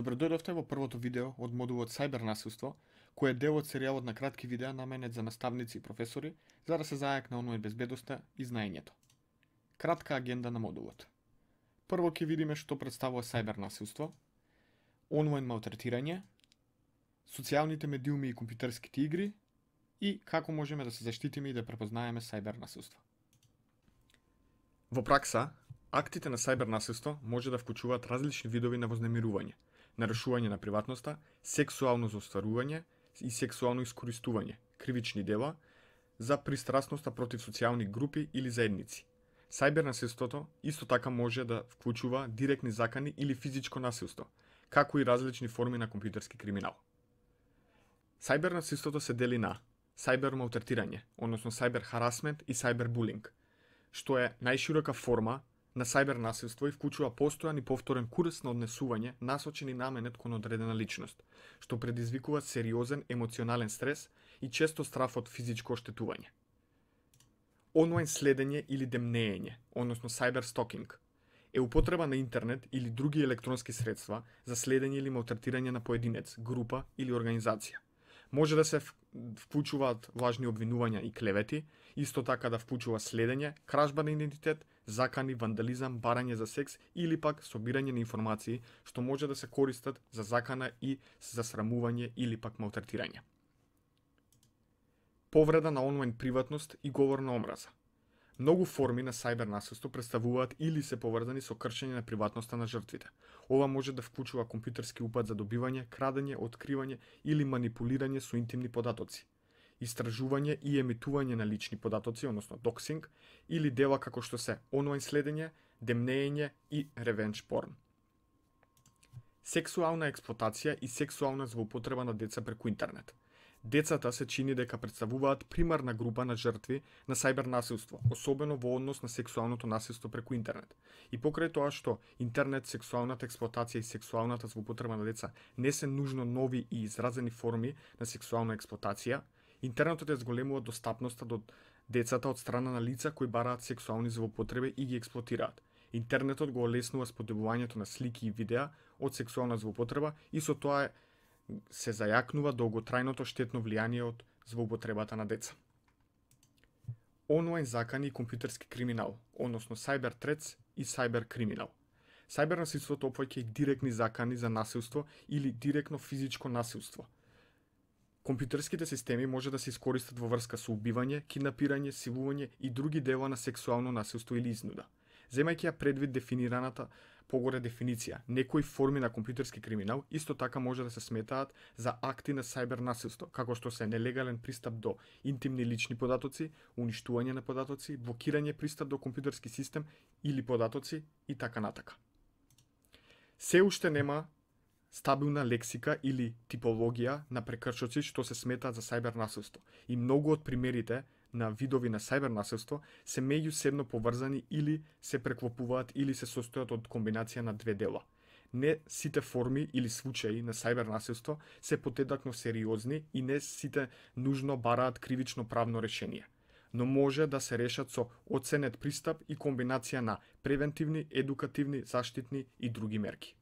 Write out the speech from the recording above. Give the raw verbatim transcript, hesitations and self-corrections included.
Добродојдовте во првото видео од модулот Сајбер насилство, кој е дел од серијалот на кратки видеа наменет за наставници и професори за да се зајакне онлайн безбедноста и знаењето. Кратка агенда на модулот. Прво ќе видиме што представува сајбер насилство, онлайн малтретирање, социјалните медиуми и компјутерските игри и како можеме да се заштитиме и да препознаеме сајбер насилство. Во пракса, актите на сајбер насилство може да вклучуваат различни видови на вознемирување, нарушување на приватноста, сексуално зостварување и сексуално искористување, кривични дела за пристрасноста против социјални групи или заедници. Сајбер насилството исто така може да вклучува директни закани или физичко насилство, како и различни форми на компјутерски криминал. Сајбер насилството се дели на сајбер малтретирање, односно сајбер харасмент и сајбер булинг, што е најширока форма на сајбер насилство и вклучува постојан и повторен курс на однесување насочени наменет кон одредена личност, што предизвикува сериозен емоционален стрес и често страв од физичко оштетување. Онлайн следење или демнеење, односно сајбер стокинг, е употреба на интернет или други електронски средства за следење или малтретирање на поединец, група или организација. Може да се вклучуваат важни обвинувања и клевети, исто така да вклучува следење, кражба на идентитет, закани, вандализам, барање за секс или пак собирање на информации што може да се користат за закана и за срамување или пак малтретирање. Повреда на онлайн приватност и говор на омраза. Многу форми на сајбер насилство представуваат или се поврзани со кршење на приватноста на жртвите. Ова може да вклучува компјутерски упад за добивање, крадење, откривање или манипулирање со интимни податоци, истражување и емитување на лични податоци, односно доксинг, или дела како што се онлайн следење, демнеење и ревенж порн. Сексуална експлоатација и сексуална злоупотреба на деца преку интернет. Децата се чини дека представуваат примарна група на жртви на сајбер насилство, особено во однос на сексуалното насилство преку интернет. И покрај тоа што интернет, сексуалната експлоатација и сексуалната злоупотреба на деца не се нужно нови и изразени форми на сексуална експлоатација, интернетот ја зголемува достапноста до децата од страна на лица кои бараат сексуални злоупотреби и ги експлоатираат. Интернетот го олеснува споделувањето на слики и видеа од сексуална злоупотреба и со тоа се зајакнува долготрајното штетно влијание од злоупотребата на деца. Онлайн закани и компјутерски криминал, односно сајбер трец и сајбер криминал. Сајбер насилството опфаќа и директни закани за насилство или директно физичко насилство. Компјутерските системи може да се искористат во врска со убивање, киднапирање, силување и други дела на сексуално насилство или изнуда. Земајќи ја предвид дефинираната погоре дефиниција, некои форми на компјутерски криминал исто така може да се сметаат за акти на сајбер насилство, како што се нелегален пристап до интимни лични податоци, уништување на податоци, блокирање пристап до компјутерски систем или податоци и така натака. Се уште нема стабилна лексика или типологија на прекршоци што се сметаат за сајбер насилство и многу од примерите на видови на сајбер насилство се меѓусебно поврзани или се преклопуваат или се состојат од комбинација на две дела. Не сите форми или случаи на сајбер насилство се потедакно сериозни и не сите нужно бараат кривично правно решение, но може да се решат со оценет пристап и комбинација на превентивни, едукативни, заштитни и други мерки.